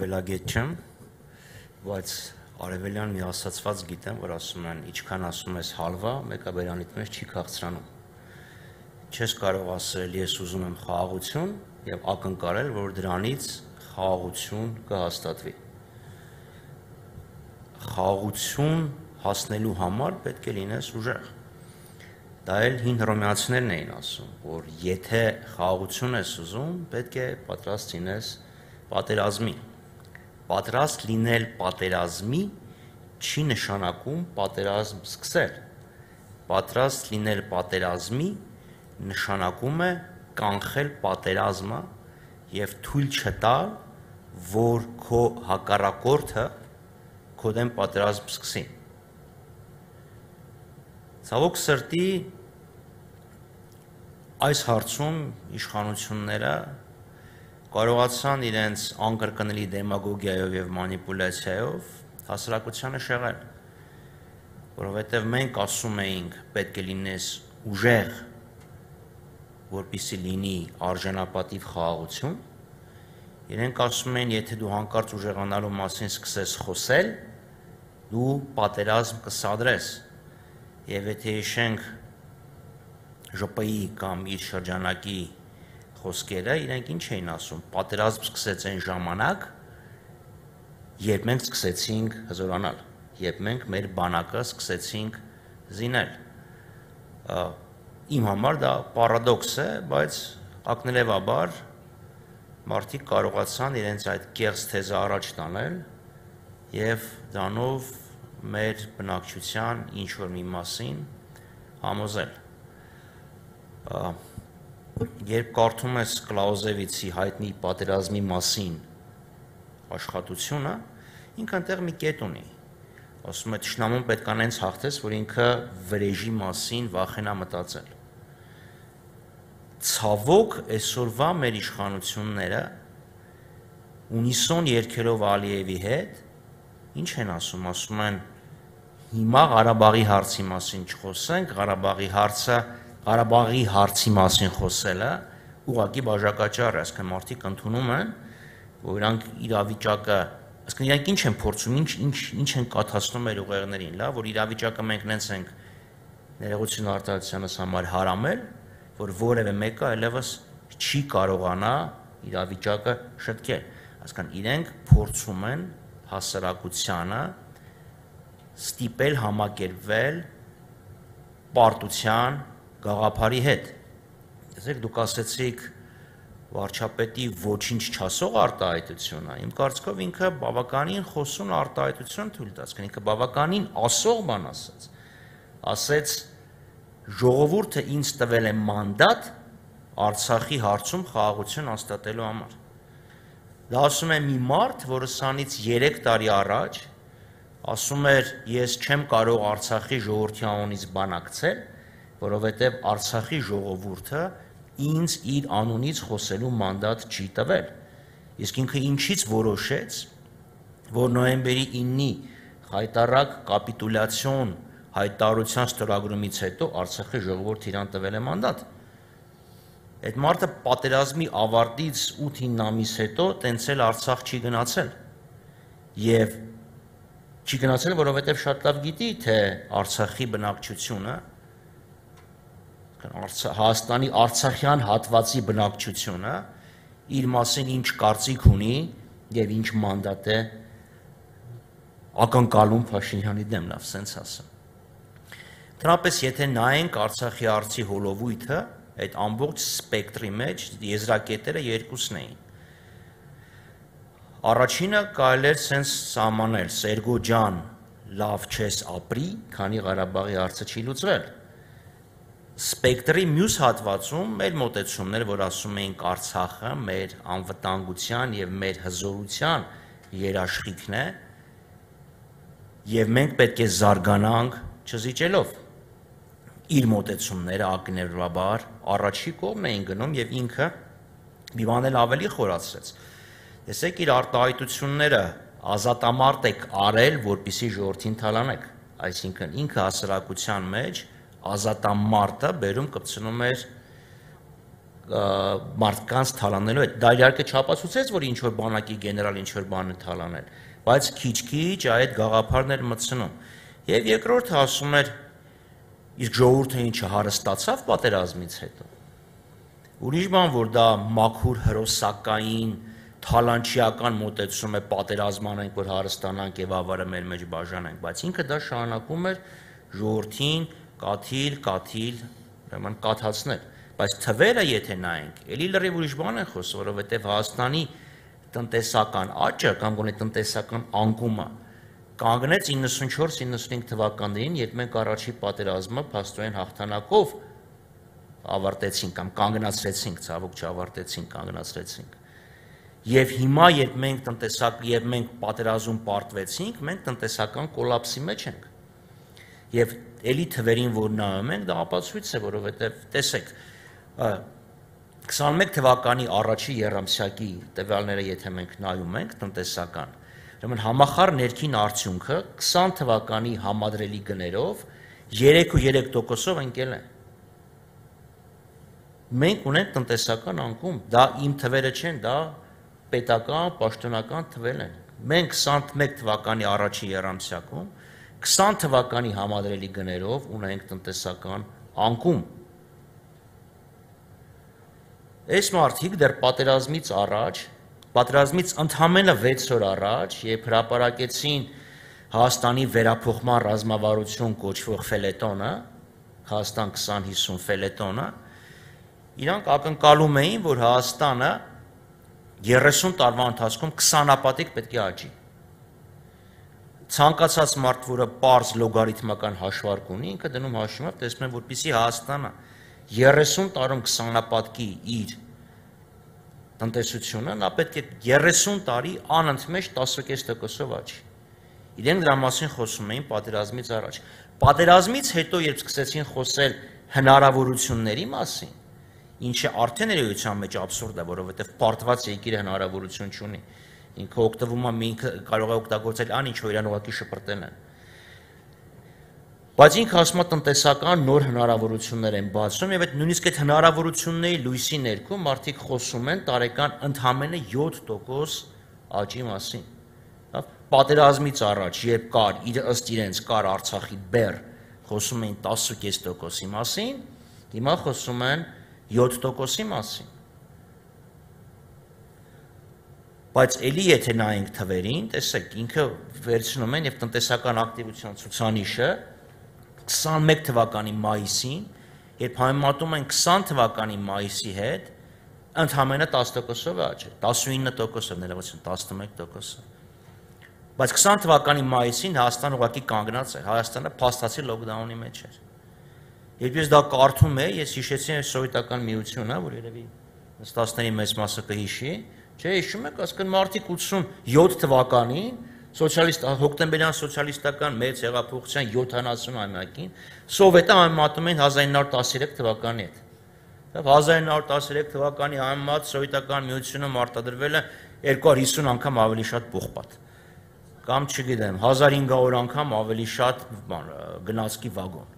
արևելագետ չեմ, բայց արևելյան մի ասացված գիտեմ, որ ասում են, ինչքան ասում ես հալվա, մեկը բերանիդ մեջ չի քաղցրանում։ Չես կարող ասել, ես ուզում եմ խաղաղություն եւ ակնկալել, որ դրանից խաղաղություն կհաստատվի։ Խաղաղություն հասնելու համար պետք է լինես ուժեղ։ Դա էլ հին հռոմեացիներն էին ասում, որ եթե խաղաղություն ես ուզում, պետք է պատրաստ լինես պատերազմի։ Պատրաստ լինել պատերազմի չի նշանակում պատերազմ սկսել։ Պատրաստ լինել պատերազմի նշանակում է կանխել պատերազմը եւ թույլ չտալ, որ քո հակառակորդը քո դեմ պատերազմ սկսի։ Ցավոք սրտի այս հարցում իշխանությունները կարողացան իրենց անկրկնելի դեմագոգիայով եւ մանիպուլյացիայով հասարակությանը շեղել, որովհետեւ մենք ասում էինք պետք է լինես ուժեղ, որպեսզի լինի արժանապատիվ խաղաղություն, իրենք ասում են, եթե դու հանկարծ ուժեղանալու մասին սկսես խոսել, դու պատերազմ կսադրես, եւ եթե հիշենք ԺՊ-ի կամ իր շրջանակի խոսքերը, իրենք ինչ էին ասում, պատերազմ սկսեց այն ժամանակ, երբ մենք սկսեցինք հզորանալ, երբ մենք մեր բանակը սկսեցինք զինել։ Իմ համար դա պարադոքս է, բայց ակնելևաբար մարդիկ կարողացան իրենց այդ կեղծ թեզը առաջ տանել եւ դրանով մեր բնակչության ինչ-որ մի մասին համոզել։ Երբ կարդում ես Կլաուզևիցի հայտնի պատերազմի մասին աշխատությունը, ինքը այնտեղ մի կետ ունի։ Ասում է, թշնամուն պետք է նենց հաղթես, որ ինքը վրեժի մասին վախենա մտածել։ Ցավոք այսօրվա մեր իշխանությունները ունիսոն երգելով Ալիևի հետ ինչ են ասում, ասում են հիմա Ղարաբաղի հարցի մասին չխոսենք, Ղարաբաղի հարցի մասին խոսելը ուղղակի բաժակաճառ է, այսինքն մարդիկ ընդունում են, որ իրանք իրավիճակը, այսինքն իրանք ինչ են փորձում, ինչ են կաթացնում մեր ուղեղներին, լավ, որ իրավիճակը մենք նենց ենք ներողություն արտահայտությանս համար հարամել, որ որևէ մեկը այլևս չի կարողանա իրավիճակը շտկել, այսինքն իրենք փորձում են հասարակությանը ստիպել համակերպվել պարտության գաղափարի հետ։ Տեսեք, դուք ասեցիք վարչապետի ոչինչ չասող արտահայտությունը, իմ կարծիքով ինքը բավականին խոսուն արտահայտություն թույլ տաց, ինքը բավականին ասող բան ասաց։ Ասեց ժողովուրդը ինձ տվել է մանդատ Արցախի հարցում խաղաղություն հաստատելու համար։ Դա ասում է մի մարդ, որը սանից 3 տարի առաջ ասում էր, ես չեմ կարող Արցախի ժողովրդի անունից բանակցել, որովհետև Արցախի ժողովուրդը ինձ իր անունից խոսելու մանդատ չի տվել։ Իսկ ինքը ինչից որոշեց, որ նոյեմբերի 9-ի հայտարարակ կապիտուլյացիոն հայտարարության ստորագրումից հետո Արցախի ժողովուրդը իրան տվել է մանդատ։ Այդ մարդը պատերազմի ավարտից 8-9 ամիս հետո տենց էլ Արցախ չի գնացել։ Եվ չի գնացել, որովհետև շատ լավ գիտի, թե Արցախի բնակչությունը, Հայաստանի արցախյան հատվածի բնակչությունը իր մասին ինչ կարծիք ունի եւ ինչ մանդատ է ակնկալում Փաշինյանի դեմ, լավ, սենց ասեմ։ Դրանպես եթե նայենք Արցախի հարցի հոլովույթը, այդ ամբողջ սպեկտրի մեջ եզրակետերը երկուսն էին։ Առաջինը կարելի էր սենց սահմանել, Սերգո ջան, լավ չես ապրի, քանի Ղարաբաղի հարցը չի լուծվել։ Սպեկտրի մյուս հատվածում մեր մոտեցումներ, որ ասում էինք Արցախը մեր անվտանգության եւ մեր հզորության երաշխիքն է, եւ մենք պետք է զարգանանք չզիջելով։ Իր մոտեցումները ակնհայտաբար առաջի կողմն էին գնում եւ ինքը մի բան էլ ավելի խորացրեց։ Տեսեք, իր արտահայտությունները ազատամարտ եք արել, որպեսզի ժողովրդին թալանեք, այսինքն ինքը հասարակության մեջ ազատամարտը բերում կպցնում էր մարդկանց թալանելու հետ։ Դա իհարկե չապացուցեց, որ ինչ որ բանակի գեներալ ինչ որ բան է թալանել, բայց քիչ-քիչ այդ գաղափարներ մտցնում։ Եվ երկրորդը ասում էր, իսկ ժողովուրդը ինչը հարստացավ պատերազմից հետո։ Ուրիշ բան, որ դա մաքուր հրոսակային թալանչիական մոտեցում է պատերազմանենք, որ հարստանանք եւ ավարը մեր մեջ բաժանենք, բայց ինքը դա շարունակում էր ժողովրդին կաթիլ, ուրեմն կաթացնել, բայց թվերը եթե նայենք, էլի լրիվ ուրիշ բան են խոսում, որովհետեւ Հայաստանի տնտեսական աճը կամ գոնե տնտեսական անկումը կանգնեց 94-95 թվականներին, երբ մենք առաջի պատերազմը փաստորեն հաղթանակով ավարտեցինք կամ կանգնացրեցինք, ցավոք չավարտեցինք, կանգնացրեցինք։ Եվ հիմա, երբ մենք պատերազմ պարտվեցինք, մենք տնտեսական կոլապսի մեջ ենք։ Եվ էլի թվերին, որ նայում ենք, դա ապացույց է, որովհետև տեսեք, 21 թվականի առաջի եռամսյակի տվյալները, եթե մենք նայում ենք տնտեսական, ուրեմն համախառն ներքին արդյունքը 20 թվականի համադրելի գներով 3.3%-ով ընկել է։ Մենք ունենք տնտեսական անկում, դա իմ թվերը չեն, դա պետական, պաշտոնական թվեր են։ Մենք 21 թվականի առաջի եռամսյակում 20 թվականի համադրելի գներով ունենք տնտեսական անկում։ Այս մարդիկ դեռ պատերազմից ընդամենը 6 օր առաջ, երբ հրապարակեցին Հայաստանի վերափոխման ռազմավարություն կոչվող ֆելետոնը, Հայաստան 2050 ֆելետոնը, իրանք ակնկալում էին, որ Հայաստանը 30 տարվա ընթացքում 20-ապատիկ պետք է աճի։ Ցանկացած մարդ, որը պարզ լոգարիթմական հաշվարկ ունի, ինքը դնում հաշվումով, տեսնում է, որպեսզի Հայաստանը 30 տարում 20-ապատկի իր տնտեսությունը, նա պետք է 30 տարի անընդմեջ 10.5%-ով աճի։ Իրենք դրա մասին խոսում էին պատերազմից առաջ։ Պատերազմից հետո, երբ սկսեցին խոսել հնարավորությունների մասին, ինչը արդեն էության մեջ աբսուրդ է, որովհետև պարտված երկիրը հնարավորություն չունի։ Ինքը օգտվում է, ինքը կարող է օգտագործել այն, ինչ որ իրան ուղղակի շպրտել են։ Բայց ինքը ասում է տնտեսական նոր հնարավորություններ են բացում եւ այդ նույնիսկ այդ հնարավորությունների լույսի ներքո մարդիկ խոսում են տարեկան ընդամենը 7% աճի մասին։ Պատերազմից առաջ, երբ կար ըստ իրենց կար Արցախի բեռ, խոսում էին 10.5%-ի մասին, հիմա խոսում են 7%-ի մասին։ Բայց էլի եթե նայենք թվերին, տեսեք, ինքը վերցնում են եւ տնտեսական ակտիվության ցուցանիշը 21 թվականի մայիսին, երբ համեմատում են 20 թվականի մայիսի հետ, ընդամենը 10%-ով աճ է, 19%-ով, ներողություն, 11%-ով։ Բայց 20 թվականի մայիսին Հայաստանը ուղղակի կանգնած էր, Հայաստանը փաստացի լոկդաունի մեջ էր։ Երբ ես դա կարդում էի, ես հիշեցի սովետական միությունը, որ երևի նստածների մեծ մասը կհիշի, չէ, հիշում եք, ասկան մարտիկ 87 թվականին հոկտեմբերյան սոցիալիստական մեծ հեղափոխության 70-ամյակին Սովետը համեմատում են 1913 թվականի հետ։ 1913 թվականի համեմատ սովետական միությունը մարտադրվել է 250 անգամ ավելի շատ պողպատ։ Կամ չգիտեմ, 1500 անգամ ավելի շատ գնացքի վագոն։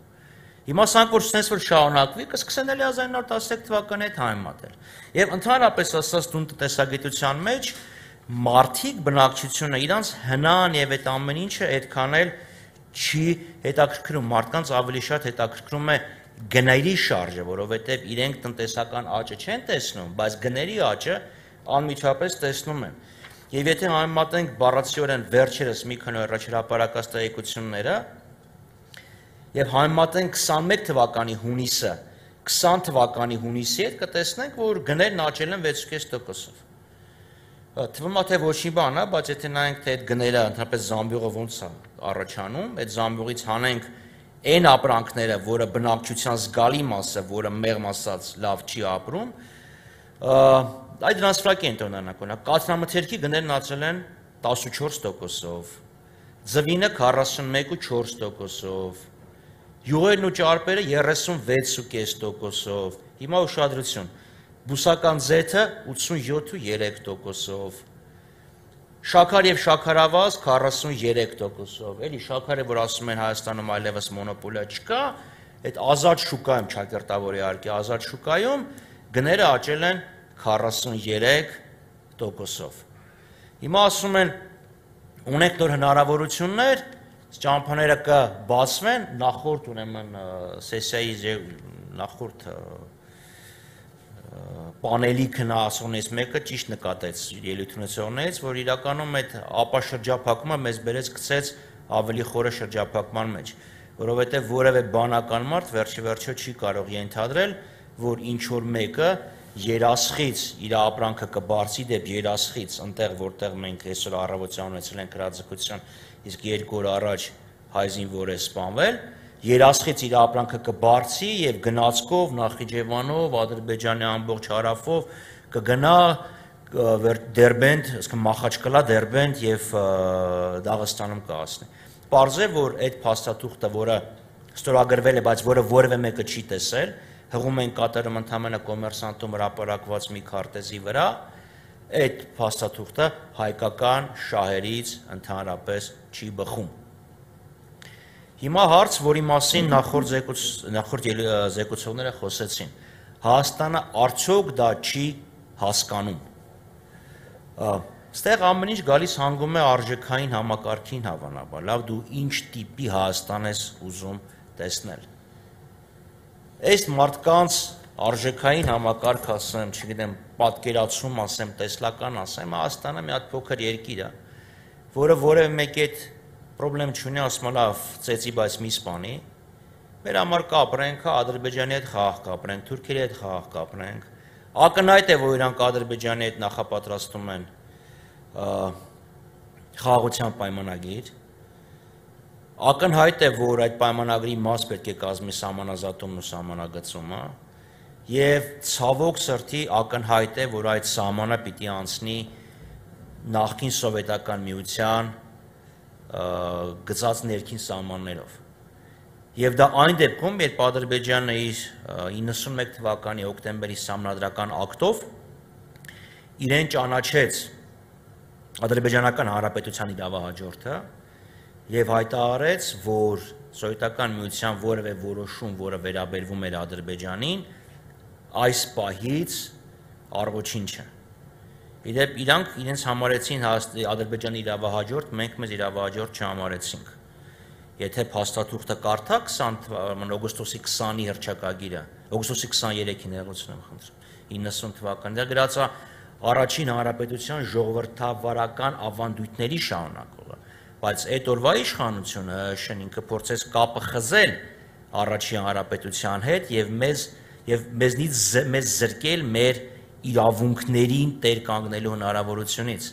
Հիմա սանք որ sense որ շարունակվի, կսկսեն էլի 1913 թվականի հետ համեմատել։ Եվ ընդհանրապես ասած տուն տնտեսագիտության մեջ մարդիկ բնակչությունը իրանց հնան եւ այդ ամեն ինչը այդքան էլ չի հետաքրքրում, մարդկանց ավելի շատ հետաքրքրում է գների շարժը, որովհետեւ իրենք տնտեսական աճը չեն տեսնում, բայց գների աճը անմիջապես տեսնում են։ Եվ եթե համեմատենք բառացիորեն վերջերս մի քանի օր առաջ հրապարակած տեղեկությունները եւ համեմատենք 21 թվականի հունիսը 20 թվականի հունիսի հետ, կտեսնենք, որ գներն աճել են 6.5%-ով։ Թվում է թե ոչինչ բան է, բայց եթե նայենք թե այդ գները ընդհանրապես զամբյուղը ոնց է առաջանում, այդ զամբյուղից հանենք այն ապրանքները, որը բնակչության զգալի մասը, որը մեղմ ասած լավ չի ապրում, այդ դրանց վրա են տնօրինակոնը։ Կաթնամթերքի գներն աճել են 14%-ով, ձվինը 41.4%-ով, յուղերն ու ճարպերը 36.5%-ով, հիմա ուշադրություն, բուսական ձեթը 87.3%-ով, շաքար եւ շաքարավազ 43%-ով, էլի շաքարը, որ ասում են Հայաստանում այլևս մոնոպոլիա չկա, այդ ազատ շուկայում, ճակերտավոր իհարկե ազատ շուկայում գները աճել են 43%-ով։ Հիմա ասում են, ունենք նոր հնարավորություններ, ճամփաները կբացվեն, նախորդ ուրեմն սեսիայի նախորդ պանելի քննարկումներից մեկը ճիշտ նկատեց ելույթունեցողներից, որ իրականում այդ ապաշրջափակումը մեզ բերեց գցեց ավելի խորը շրջափակման մեջ, որովհետև որևէ բանական մարդ վերջիվերջո չի կարող ենթադրել, որ ինչ որ մեկը երասխից իր ապրանքը կբարձի դեպ երասխից, այնտեղ որտեղ մենք այսօր առավոտյան ունեցել ենք հրաձգություն, իսկ 2 օր առաջ հայ զինվոր է սպանվել, երասխից իր ապրանքը կբարձի եւ գնացքով Նախիջևանով, Ադրբեջանի ամբողջ հարավով կգնա Դերբենդ, ասենք Մախաչկալա, Դերբենդ եւ Դաղստանում կհասնի։ Պարզ է, որ այդ փաստաթուղթը, որը ստորագրվել է, բայց որը որևէ մեկը չի տեսել, հղում են կատարում ընդհանրապես կոմերսանտում հրապարակված մի քարտեզի վրա, այդ փաստաթուղթը հայկական շահերից ընդհանրապես չի բխում։ Հիմա հարց, որի մասին նախորդ զեկուցողները խոսեցին, Հայաստանը արդյոք դա չի հասկանում։ Ստեղ ամեն ինչ գալիս հանգում է արժեքային համակարգին հավանաբար, լավ դու ինչ տիպի Հայաստան ես ուզում տեսնել։ Այս մարդկանց արժեքային համակարգ ասեմ, չգիտեմ, պատկերացում ասեմ, տեսլական ասեմ, Հայաստանը մի հատ փոքր երկիր է, որը որևէ մեկի հետ պրոբլեմ չունի, ասում է լավ, ծեծի, բայց մի սպանի, մեր համար կապրենք, Ադրբեջանի հետ խաղաղ կապրենք, թուրքերի հետ խաղաղ կապրենք, ակնհայտ է, որ իրանք Ադրբեջանի հետ նախապատրաստում են խաղաղության պայմանագիր, ակնհայտ է, որ այդ պայմանագրի մաս պետք է կազմի սահմանազատումն ու սահմանագծումը, եւ ցավոք սրտի ակնհայտ է, որ այդ սահմանը պիտի անցնի նախկին սովետական միության գծած ներքին սահմաններով։ Եվ դա այն դեպքում, երբ Ադրբեջանը իր 91 թվականի հոկտեմբերի սահմանադրական ակտով իրեն ճանաչեց Ադրբեջանական Հանրապետության իրավահաջորդը եւ հայտարարեց, որ սովետական միության որևէ որոշում, որը վերաբերվում էր Ադրբեջանին, այս պահից առողջին չէ։ Իդեպ իրանք իրենց համարեցին Ադրբեջանի իրավահաջորդ, մենք մեզ իրավահաջորդ չհամարեցինք։ Եթե փաստաթուղթը կարդաք օգոստոսի 20-ի հռչակագիրը, օգոստոսի 23-ին ներողություն եմ խնդրում, 90 թվականին դա գրած է առաջին հանրապետության ժողովրդավարական ավանդույթների շարունակողը, բայց այդ օրվա իշխանությունը ինքը փորձեց կապը խզել առաջին հանրապետության հետ եւ մեզնից մեզ զրկել մեր իրավունքներին տեր կանգնելու հնարավորությունից։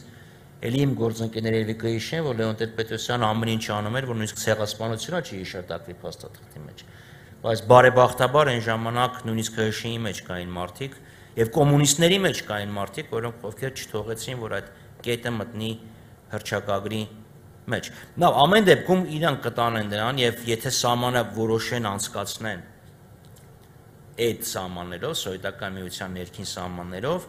Էլի իմ գործընկերները երևի կհիշեն, որ Լեոն Տեր-Պետրոսյանը ամեն ինչ անում էր, որ նույնիսկ ցեղասպանությունը չհիշատակվի փաստաթղթի մեջ։ Բայց բարեբախտաբար այն ժամանակ նույնիսկ ՀՇԻ-ի մեջ կային մարդիկ եւ կոմունիստների մեջ կային մարդիկ, որոնք ովքեր չթողեցին, որ այդ կետը մտնի հռչակագրի մեջ։ Նավ ամեն դեպքում իրանք կտանեն դրան եւ եթե սահմանը որոշեն անցկացնեն այդ սահմաններով, սովետական միության ներքին սահմաններով,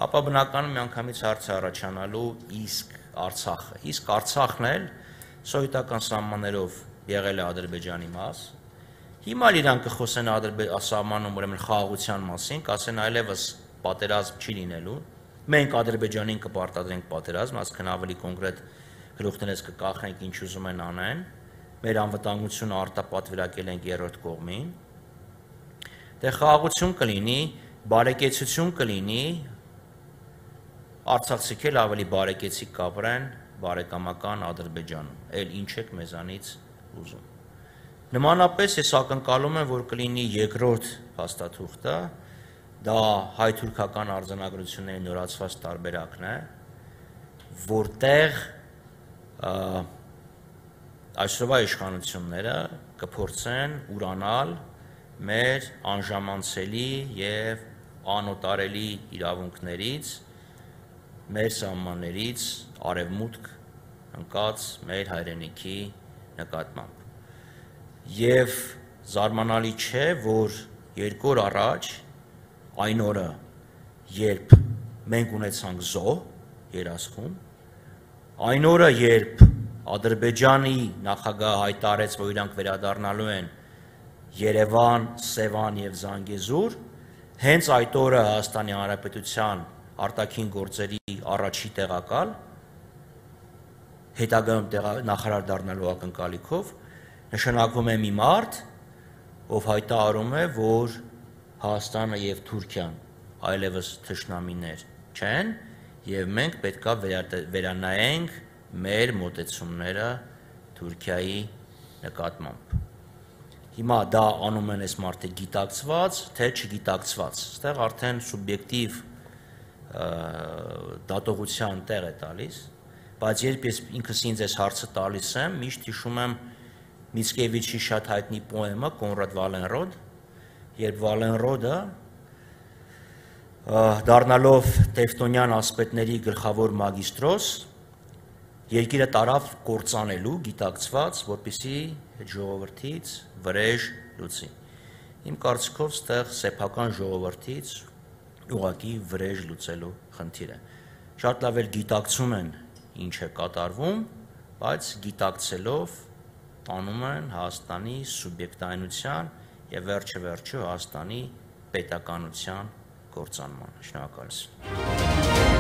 ապա բնականում միանգամից հարց է առաջանալու իսկ Արցախը։ Իսկ Արցախն էլ սովետական սահմաններով եղել է Ադրբեջանի մաս։ Հիմա իրանք կխոսեն սահմանում ուրեմն խաղաղության մասին, կասեն այլևս պատերազմ չի լինելու։ Մենք Ադրբեջանին կպարտադրենք պատերազմ, այսինքն ավելի կոնկրետ գլուխներից կկախենք ինչ ուզում են անեն, մեր անվտանգությունը արտապատվիրակել ենք երրորդ կողմին։ Դե խաղաղություն կլինի, բարեկեցություն կլինի, արցախցիք էլ ավելի բարեկեցիկ կապրեն բարեկամական Ադրբեջանում, էլ ինչ եք մեզանից ուզում։ Նմանապես ես ակնկալում եմ, որ կլինի երկրորդ փաստաթուղթը, դա հայ-թուրքական արձանագրությունների նորացված տարբերակն է, որտեղ այսօրվա իշխանությունները կփորձեն ուրանալ մեր անժամանցելի եւ անօտարելի իրավունքներից, մեր սահմաններից արևմուտք ընկած մեր հայրենիքի նկատմամբ։ Եվ զարմանալի չէ, որ 2 օր առաջ այն օրը, երբ մենք ունեցանք զոհ երասխում, այն օրը, երբ Ադրբեջանի նախագահը հայտարարեց, որ իրանք վերադառնալու են Երևան, Սևան եւ Զանգեզուր, հենց այդ օրը Հայաստանի Հանրապետության արտաքին գործերի առաջի տեղակալ, հետագայում նախարար դառնալու ակնկալիքով, նշանակվում է մի մարդ, ով հայտարարում է, որ Հայաստանը եւ Թուրքիան այլևս թշնամիներ չեն, եւ մենք պետքա վերանայենք մեր մոտեցումները Թուրքիայի նկատմամբ։ Հիմա դա անում են այս մարդը գիտակցված, թե չգիտակցված։ Այստեղ արդեն սուբյեկտիվ դատողության տեղ է տալիս, բայց երբ ես ինքս ինձ այս հարցը տալիս եմ, միշտ հիշում եմ Միցկևիչի շատ հայտնի պոեմը Կոնրադ Վալենրոդ, երբ Վալենրոդը դառնալով տևտոնյան ասպետների գլխավոր մագիստրոս, երկիրը տարավ կործանելու, գիտակցված, որպեսզի ժողովրդից վրեժ լուծի։ Իմ կարծիքով ստեղ սեփական ժողովրդից ուղղակի վրեժ լուծելու խնդիր է։ Շատ լավ էլ գիտակցում են ինչ է կատարվում, բայց գիտակցելով տանում են Հայաստանի սուբյեկտայնության եւ վերջը Հայաստանի պետականության կործանման։ Շնորհակալություն։